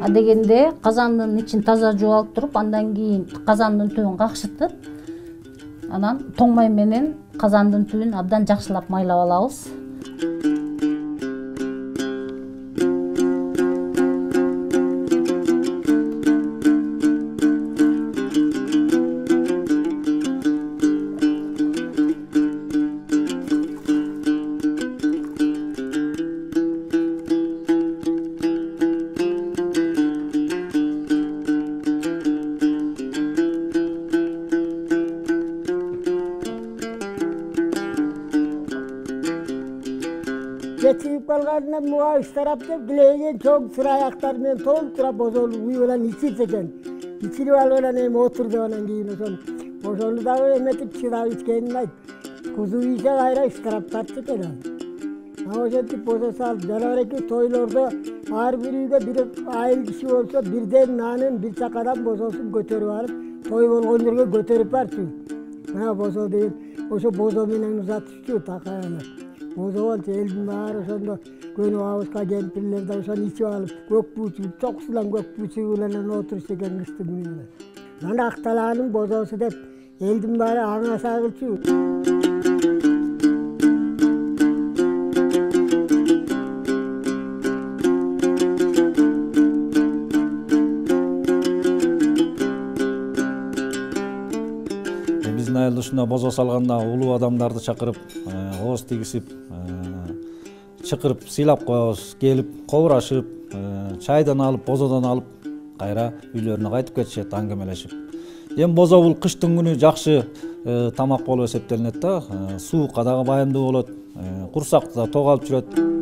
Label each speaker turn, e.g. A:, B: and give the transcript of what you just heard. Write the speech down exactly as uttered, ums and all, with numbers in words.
A: Адегенде казандын ичин таза жууп алып туруп, андан кийин казандын түбүн какшытып, анан тоң май менен казандын түбүн абдан жакшылап майлап алабыз.
B: Geçip kalgandan muğa iştarap деп dileygen çok sıra ayaklar men толтура бозолу уй белән içip экен. İçilip алып эми отурду анан кийин ошол бозолу дагы эметип чыдап ичкенин айт. Кузу ийсе кайра iştarап тартты экен ал. А ошентип бозосо алып жанабеки тойлордо ар бир үйгө бир айыл киши болсо бирден нанын бир чакадан бозосун көтөрүп алып, той болгон жерге көтөрүп барчу. Мына бозо деген ошо бозо менен узатышчу такаянат. Бозо болчу элдин баары ошондо көнүп абызга кемпирлер да ошону ичип алып, көк буучу, чокусулан көк буучу менен отурушчу экен кыштын күнүнө. Мына Акталаанын бозосу деп элдин баары аңаса кылчу.
C: Биздин айылда ушундай бозо салганда улуу адамдарды чакырып, ооз тигизип, чакырып сыйлап коебуз. Келип, кобурашып, чайдан алып, бозодон алып, кайра үйлөрүнө кайтып кетишет аңгемелешип. Эми бозо бул кыштын күнү жакшы тамак болуп эсептелинет да. Суукка дагы байымдуу болот, курсакты да ток алып жүрөт.